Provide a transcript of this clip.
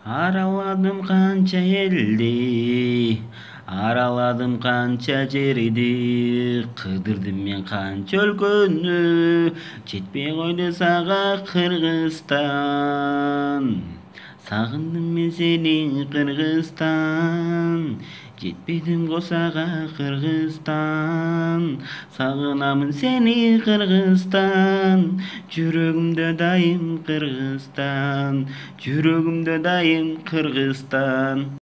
Араладым канча элди, араладым канча жерди, кыдырдым мен канча өлкөнү, жетпей койду сага Кыргызстан. Сагындым мен сени Кыргызстан, жетпедим го сага Кыргызстан. Сагынамын сени Кыргызстан, жүрөгүмдө дайым Кыргызстан, жүрөгүмдө дайым Кыргызстан.